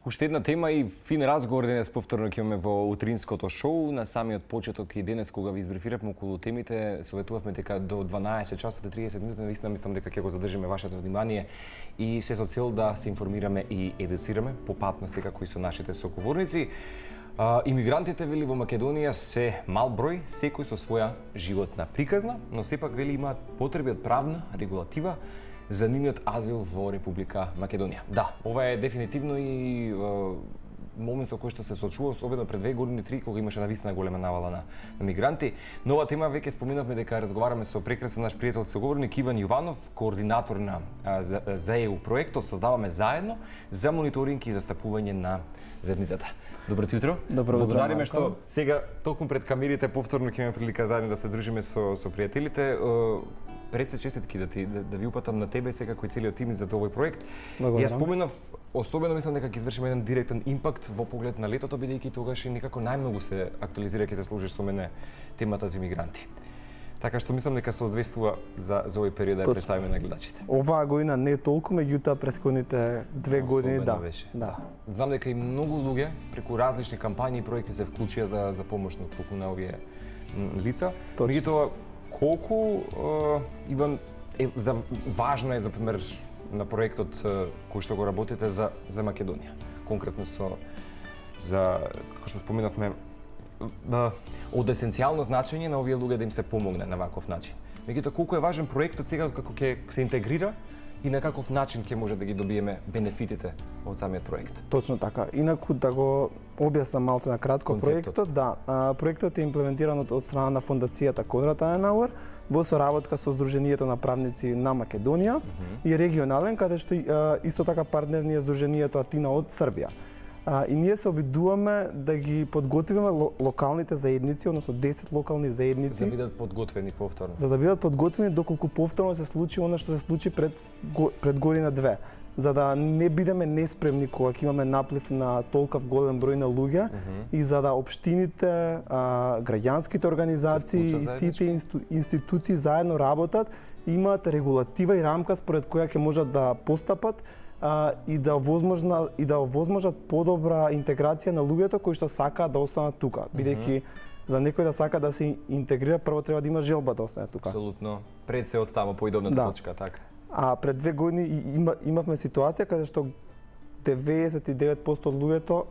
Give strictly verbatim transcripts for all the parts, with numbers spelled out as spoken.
Уште една тема и фин разговор денес повторно ќе имаме во утринското шоу. На самиот почеток и денес кога ви избрифиравме околу темите, советувавме дека до дванаесет часот и триесет минути, навистина мислам дека ќе го задржиме вашето внимание и се со цел да се информираме и едуцираме по пат на секако и со нашите соговорници. А, имигрантите, вели, во Македонија се мал број, секој со своја животна приказна, но сепак, вели, имаат потреби од правна регулатива за нивниот азил во Република Македонија. Да, ова е дефинитивно и е, момент со кој што се соочува, особено пред две години, три, кога имаше навистина голема навала на, на мигранти. Нова тема, веќе споминавме дека разговараме со прекрасен наш пријател соговорник Иван Јованов, координатор на а, за, за е у проектот Создаваме заедно за мониторинг и застапување на заедницата. Добро утро. Добро утро. Благодариме што сега токму пред камерите повторно ќе имаме прилика заедно да се дружиме со со пријателите. Пред се честитки да ти да, да ви упатам на тебе секако и целиот тим за овој проект. Благодарам. Јас споменав, особено мислам дека ќе извршиме еден директен импакт во поглед на летото, бидејќи тогаш и некако најмногу се актуализира, ќе се сложиш со мене темата за мигранти. Така што мислам дека се одвестува за за овој период да ја представиме на гледачите. Оваа година не е толку, меѓутоа претходните две години да. Беше. Да. Знам дека и многу луѓе преку различни кампањи и проекти се вклучија за за помош на овие лица. Меѓутоа колку е, Иван е за важно е за пример на проектот кој што го работите за за Македонија, конкретно со за како што споменавме да, од есенцијално значење на овие луѓе да им се помогне на ваков начин. Меѓутоа колку е важен проектот сега како ќе се интегрира и на каков начин ќе може да ги добиеме бенефитите од самиот проект. Точно така. Инаку да го објаснам малце на кратко Концептот. проектот, да, а, проектот е имплементиран од, од страна на фондацијата Конрад Аденауер во соработка со Сдруженијето на правници на Македонија mm -hmm. и регионален, каде што а, исто така партнер ни е Сдруженијето Атина од Србија. А, и ние се обидуваме да ги подготвиме ло, локалните заедници, односно десет локални заедници. За да бидат подготвени повторно. За да бидат подготвени доколку повторно се случи она што се случи пред, пред година две. За да не бидеме неспремни кога ќе имаме наплив на толков голем број на луѓе mm -hmm. и за да општините, а, граѓанските организации и сите инсту, институции заедно работат, имаат регулатива и рамка според која ќе можат да постапат а, и да возможна и да возможат подобра интеграција на луѓето кои што сакаат да останат тука, бидејќи mm -hmm. за некој да сака да се интегрира, прво треба да има желба да остане тука. Апсолутно. Пред се од таму поидобната да. точка, така. А пред две години има, имавме ситуација каде што деветдесет и девет проценти од луѓето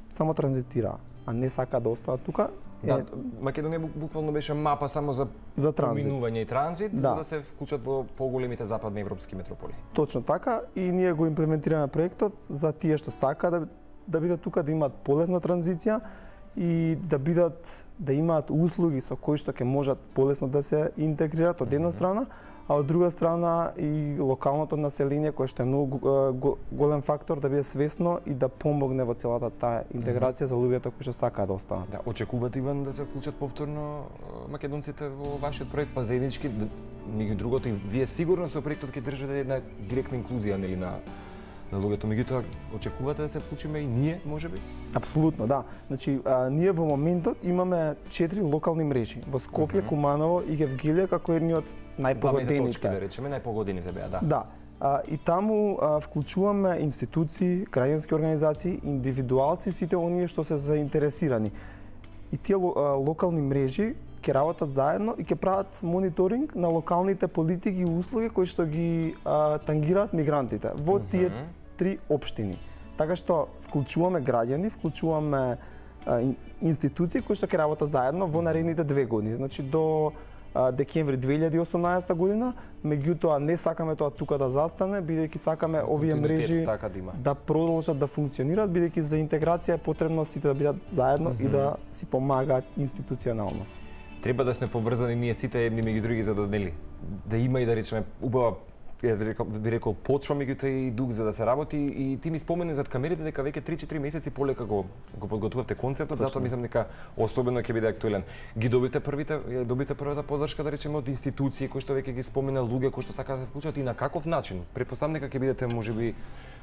само транзитира, а не сака да останат тука. Да, е, Македонија буквално беше мапа само за, за поминување и транзит, да. за да се вклучат во поголемите западни европски метрополи. Точно така, и ние го имплементираме проектот за тие што сака да да бидат тука, да имаат полесна транзиција и да бидат да имаат услуги со кои што ќе можат полесно да се интегрират од една страна, а од друга страна и локалното население кое што е многу голем фактор да биде свесно и да помогне во целата таа интеграција за луѓето кои што сакаат да останат. Да, очекувате, Иван, да се вклучат повторно македонците во вашиот проект, па заеднички, меѓу другото и вие сигурно со проектот ќе држите една директна инклузија, нели, на на луѓето, меѓутоа очекувате да се вклучиме и ние, можеби? Апсолутно, да. Значи, а, ние во моментот имаме четири локални мрежи во Скопје, mm -hmm. Куманово и Гевгелија како едни од најпогодените. Точки, да речеме, најпогодените беа, да. Да. А, и таму а, вклучуваме институции, граѓански организации, индивидуалци, сите оние што се заинтересирани. И тие а, локални мрежи ќе работат заедно и ќе прават мониторинг на локалните политики и услуги кои што ги а, тангираат мигрантите во mm -hmm. тие три општини. Така што вклучуваме граѓани, вклучуваме а, институции кои што ќе работат заедно во наредните две години. Значи до а, декември две илјади и осумнаесета година, меѓутоа не сакаме тоа тука да застане, бидејќи сакаме овие мрежи така да, да продолжат да функционираат, бидејќи за интеграција е потребно сите да бидат заедно mm -hmm. и да си помагаат институционално. Треба да сме поврзани ние сите едни меѓу други за да нели да има и да речеме убава јас би рекол, би рекол почва меѓутоа и дух за да се работи и ти ми спомени зад камерите дека веќе три-четири месеци полека го го подготвувавте концептот, затоа мислам дека особено ќе биде актуелен. Ги добивте првите добивте првата поддршка да речеме од институции кои што веќе ги спомена луѓе кои што сакаат да се вклучат и на каков начин? Претпоставам дека ќе бидете можеби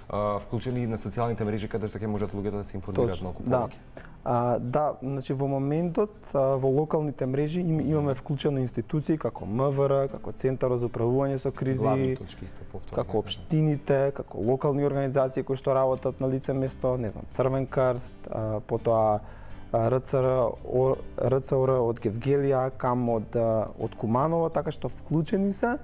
а, вклучени на социјалните мрежи каде што ќе можат луѓето да се информираат малку да. повеќе. А, да, значи во моментот а, во локалните мрежи им, имаме вклучено институции како М В Р, како Центарот за управување со кризи, Главни точки исто повторно. како општините, како локални организации кои што работат на лице место, не знам, Црвен крст, а, потоа Р Ц Р, Р Ц О Р од Гевгелија, КАМ од од Куманово, така што вклучени се.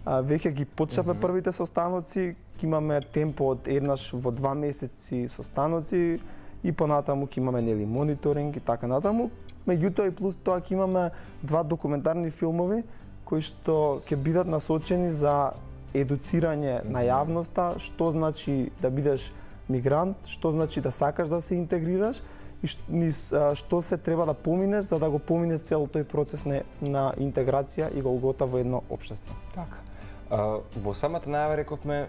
А, веќе ги почнавме mm -hmm. првите состаноци, ќе имаме темпо од еднаш во два месеци состаноци и понатаму ќе имаме нели мониторинг и така натаму. Меѓутоа и плюс тоа ќе имаме два документарни филмови кои што ќе бидат насочени за едуцирање mm -hmm. на јавноста, што значи да бидеш мигрант, што значи да сакаш да се интегрираш и што се треба да поминеш за да го поминеш цел тој процес на, на интеграција и голгота во едно општество. Така. А, во самата најава рековме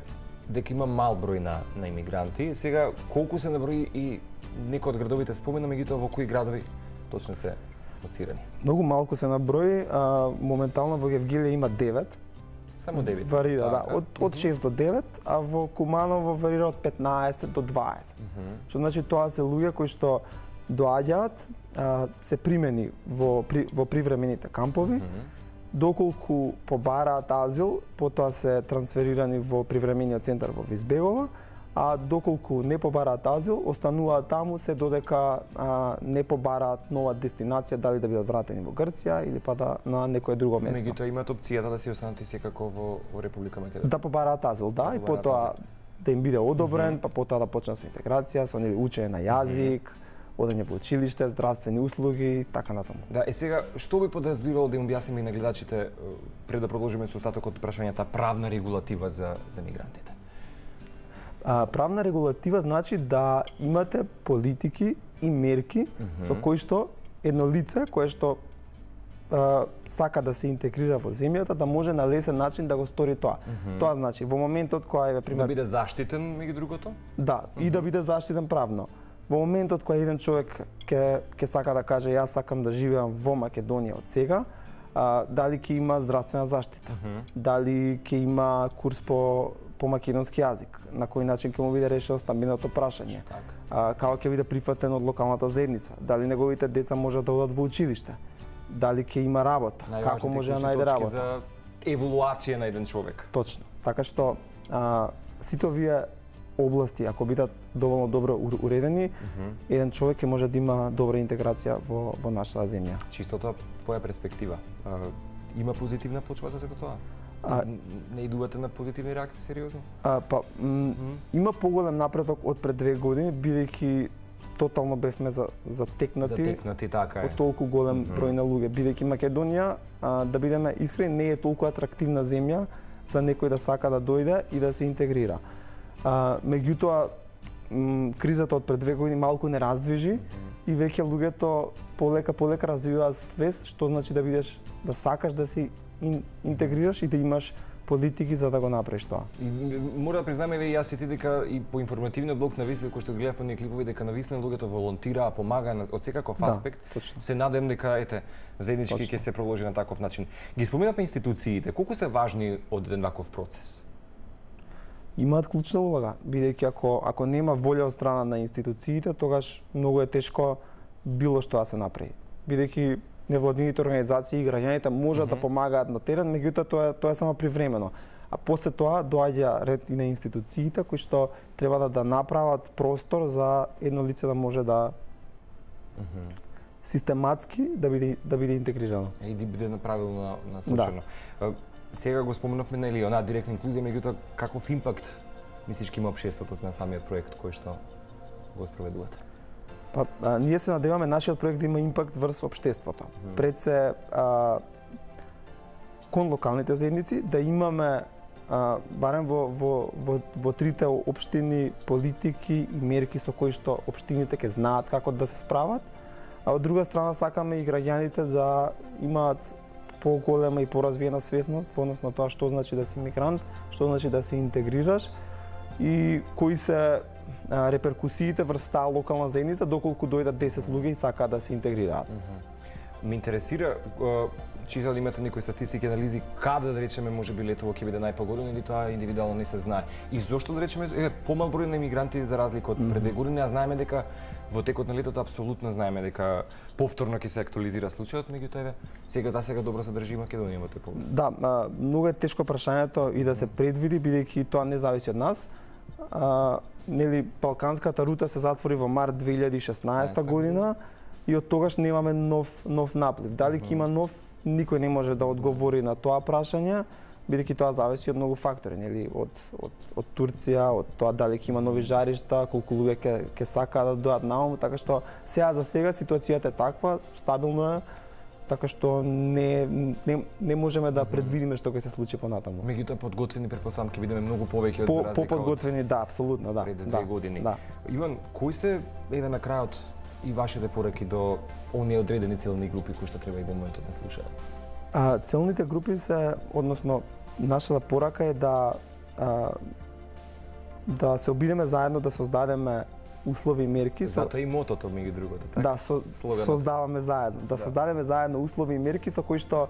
дека има мал број на, на имигранти. Сега, колку се наброи и некој од градовите спомена, меѓутоа во кои градови точно се лоцирани? Многу малку се наброи. А, моментално во Гевгелија има девет. Само девет? Варира, да. Од, од шест до девет, а во Куманово варира од петнаесет до дваесет. Mm -hmm. Што значи тоа се луѓе кои што доаѓаат, а, се примени во, при, во привремените кампови, mm -hmm. доколку побараат азил, потоа се трансферирани во привремениот центар во Визбегова, а доколку не побараат азил, остануваат таму се додека а, не побараат нова дестинација, дали да бидат вратени во Грција или па да на некое друго место. Меѓутоа имаат опцијата да се останат и секако во, во Република Македонија. Да побараат азил, да, да и потоа азил. Да им биде одобрен, mm -hmm. па потоа да почнат со интеграција, со нели учење на јазик, mm -hmm. одење во училиште, здравствени услуги, така натаму. Да, и сега што би подразбирало да им објасниме и на гледачите пред да продолжиме со остатокот од прашањата правна регулатива за за мигрантите? А, правна регулатива значи да имате политики и мерки mm -hmm. со кои што едно лице кое што а, сака да се интегрира во земјата да може на лесен начин да го стори тоа. Mm -hmm. Тоа значи во моментот кога е пример да биде заштитен меѓу другото? Да, mm -hmm. и да биде заштитен правно. Во моментот кога еден човек ќе ќе сака да каже јас сакам да живеам во Македонија од сега, а, дали ќе има здравствена заштита, mm -hmm. дали ќе има курс по по македонски јазик, на кој начин ќе му биде решено стамбеното прашање, а, како ќе биде прифатен од локалната заедница, дали неговите деца можат да одат во училиште, дали ќе има работа, како може да најде работа. За еволуација на еден човек. Точно. Така што а, сите овие области, ако бидат доволно добро уредени, mm -hmm. еден човек ќе може да има добра интеграција во, во нашата земја. Чисто тоа твоја перспектива. А, има позитивна почва за сето тоа? А, не идувате на позитивни реакции сериозно? А, па, mm -hmm. има поголем напредок од пред две години, бидејќи тотално бевме за затекнати, затекнати така е. Од толку голем mm -hmm. број на луѓе, бидејќи Македонија, а, да бидеме искрени, не е толку атрактивна земја за некој да сака да дојде и да се интегрира. А, меѓутоа, кризата од пред две години малку не раздвижи mm -hmm. и веќе луѓето полека полека развиваат свест што значи да бидеш да сакаш да се ин, интегрираш и да имаш политики за да го направиш тоа. И, мора да признаме ве јас и ти дека и по информативниот блок на Висле кој што гледав по ние клипови дека на Висле луѓето волонтираа, помагаа од секаков аспект. Да, се надевам дека ете заеднички ќе се продолжи на таков начин. Ги споменавме институциите, колку се важни од еден ваков процес? Имаат клучна улога, бидејќи ако ако нема волја од страна на институциите, тогаш многу е тешко било што да се направи. Бидејќи невладините организации и граѓаните можат mm -hmm. да помагаат на терен, меѓутоа тоа тоа е само привремено. А после тоа доаѓа ред и на институциите кои што треба да, да направат простор за едно лице да може да mm -hmm. систематски да биде да биде интегрирано. И да биде направилно насочено. Да. Сега го спомнавме нели онаа директна инклузија, меѓутоа каков импакт мислиш ќе има општеството на самиот проект кој што го спроведувате? Па, а, ние се надеваме нашиот проект да има импакт врз општеството. Mm. Пред се а, кон локалните заедници да имаме а, барем во, во, во, во трите општини политики и мерки со кои што општините ќе знаат како да се справат, а од друга страна сакаме и граѓаните да имаат поголема и поразвиена свесност во однос на тоа што значи да си мигрант, што значи да се интегрираш и кои се а, реперкусиите врз таа локална заедница доколку дојдат десет луѓе и сакаат да се интегрираат. Mm -hmm. Ме интересира читали имате некои статистики, анализи, каде да речеме може би летово ќе биде најпогодено или тоа индивидуално не се знае? И зошто да речеме е помал број на емигранти за разлика од пред две години, а знаеме дека во текот на летото апсолутно знаеме дека повторно ќе се актуализира случајот, меѓутоа еве сега за сега добро се држи Македонија во тој поглед. Да, а, многу е тешко прашањето и да се предвиди бидејќи тоа не зависи од нас. А, нели балканската рута се затвори во март две илјади и шеснаесета година и од тогаш немаме нов нов наплив. Дали ќе има нов, никој не може да одговори на тоа прашање, бидејќи тоа зависи од многу фактори, нели, од од од Турција, од тоа дали ќе има нови жаришта, колку луѓе ќе ќе сакаат да дојдат наму, така што сега за сега ситуацијата е таква, стабилно е, така што не не не можеме да предвидиме што ќе се случи понатаму. Меѓутоа подготвени претпоставам ќе бидеме многу повеќе од По, за разлика по подготвени, да, апсолутно, да. пред две да, години. Да. Иван, кои се еве на крајот и вашите пораки до оние одредени целни групи кои што треба и во моментот не слушаат? А, целните групи се, односно, нашата порака е да а, да се обидеме заедно да создадеме услови и мерки. Со... Затоа и мотото меѓу другото, така? Да, со, создаваме заедно, да, да создадеме заедно услови и мерки со кои што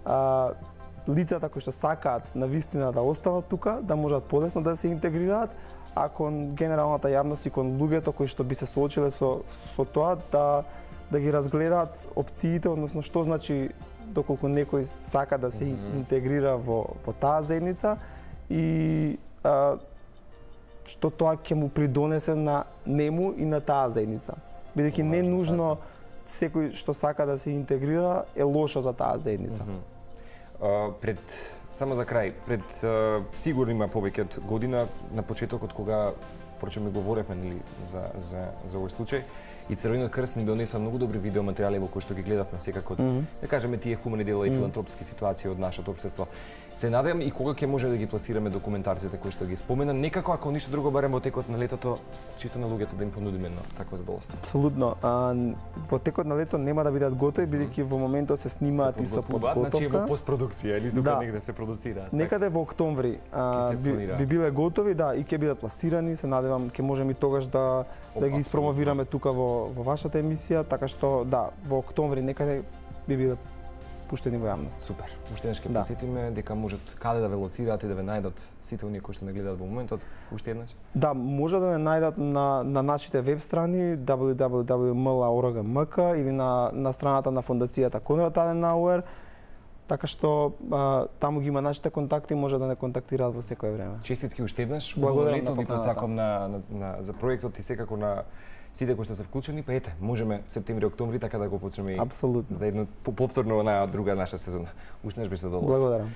а, лицата кои што сакаат на вистина да останат тука, да можат полесно да се интегрираат, а кон генералната јавност и кон луѓето кои што би се соочиле со со тоа да да ги разгледаат опциите, односно што значи доколку некој сака да се mm-hmm. интегрира во во таа заедница и а, што тоа ќе му придонесе на нему и на таа заедница. Бидејќи не нужно секој што сака да се интегрира е лошо за таа заедница. Mm -hmm. uh, пред само за крај, пред uh, сигурно има повеќе од година на почетокот кога прочем ми говоревме нели за за за овој случај и Црвениот крст ни донесува многу добри видеоматеријали во кои што ги гледавме секако, mm -hmm. да кажеме тие хумани дела и филантропски ситуации од нашето општество. Се надевам и кога ќе може да ги пласираме документарците кои што ги спомена, некако ако ништо друго барем во текот на летото, чисто на луѓето да им понудиме едно такво задоволство. Апсолутно. А, во текот на лето нема да бидат готови бидејќи во моментот се снимаат и со подготовка. Значи во постпродукција или тука да. негде се продуцираат. Некаде во октомври а, би, би биле готови, да, и ќе бидат пласирани, се надевам ќе можеме и тогаш да да ги испромовираме тука во во вашата емисија, така што да, во октомври некаде би биле пуштени во јавност. Супер. Уште еднаш ќе да. потсетиме дека можат каде да ве лоцираат и да ве најдат сите оние кои што не гледаат во моментот. Уште еднаш. Да, може да не најдат на на нашите веб страни дабл ю дабл ю дабл ю точка ем ел а точка орг точка ем ка или на на страната на фондацијата Конрад Аденауер. Така што а, таму ги има нашите контакти и може да не контактираат во секое време. Честитки уште еднаш. Благодарам лето, на ви посакам на, на, на за проектот и секако на сите кои што се вклучени, па ете, можеме септември, октомври така да го почнеме Апсолутно. за едно повторно на друга наша сезона. Уште еднаш беше задоволство. Благодарам.